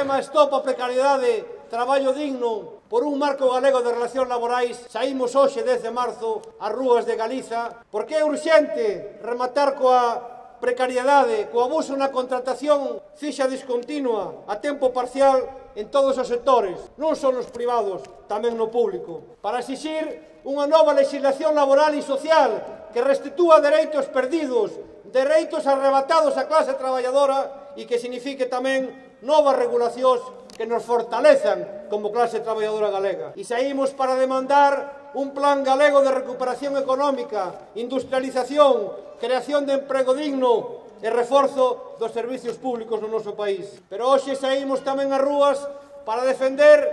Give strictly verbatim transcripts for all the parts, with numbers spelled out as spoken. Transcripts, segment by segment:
lema Stop a Precariedade, Traballo Digno, por un marco galego de relacións laborais, saímos hoxe, dez de marzo, ás rúas de Galiza, porque é urxente rematar coa precariedade, co abuso na contratación fixa discontinua, a tempo parcial en todos os sectores, non só nos privados, tamén no público, para exixir unha nova legislación laboral e social que restitúa dereitos perdidos, dereitos arrebatados á clase traballadora e que signifique tamén novas regulacións que nos fortalezan como clase traballadora galega. E saímos para demandar un plan galego de recuperación económica, industrialización, creación de emprego digno e reforzo dos servicios públicos no noso país. Pero hoxe saímos tamén ás rúas para defender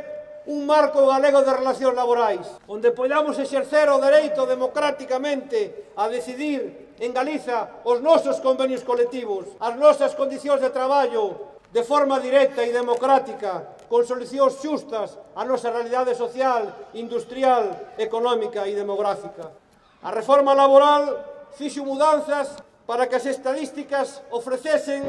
un marco galego de relacións laborais, onde podamos exercer o dereito democráticamente a decidir en Galiza os nosos convenios colectivos, as nosas condicións de traballo, de forma directa e democrática, con solucións xustas á nosa realidade social, industrial, económica e demográfica. A reforma laboral fixo mudanzas para que as estadísticas ofrecesen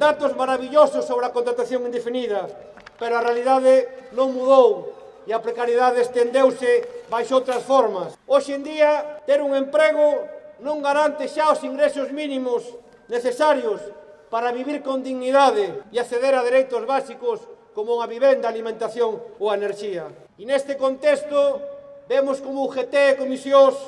datos maravillosos sobre a contratación indefinida, pero a realidade non mudou e a precariedade estendeuse baixo outras formas. Hoxe en día, ter un emprego non garante xa os ingresos mínimos necesarios para vivir con dignidade e acceder a dereitos básicos como a vivenda, a alimentación ou a enerxía. E neste contexto vemos como U G T e comisións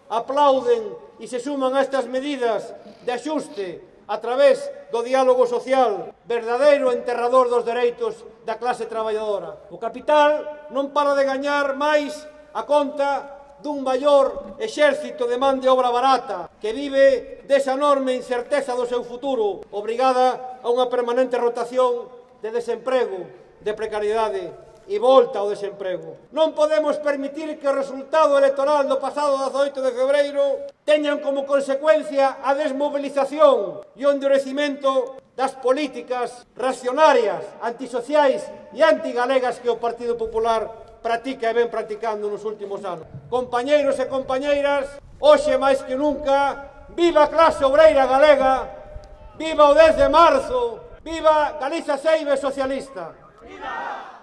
aplauden e se suman a estas medidas de axuste a través do diálogo social, verdadeiro enterrador dos dereitos da clase traballadora. O capital non para de gañar máis a conta dun maior exército de man de obra barata que vive desa enorme incerteza do seu futuro, obrigada a unha permanente rotación de desemprego, de precariedade e volta ao desemprego. Non podemos permitir que o resultado electoral do pasado dezaoito de febreiro teñan como consecuencia a desmovilización e o endurecimento das políticas reaccionarias, antisociais e antigalegas que o Partido Popular practica e ven practicando nos últimos anos. Compañeiros e compañeiras, hoxe máis que nunca, viva a clase obreira galega, viva o dez de marzo, viva Galiza Seibe socialista. Viva!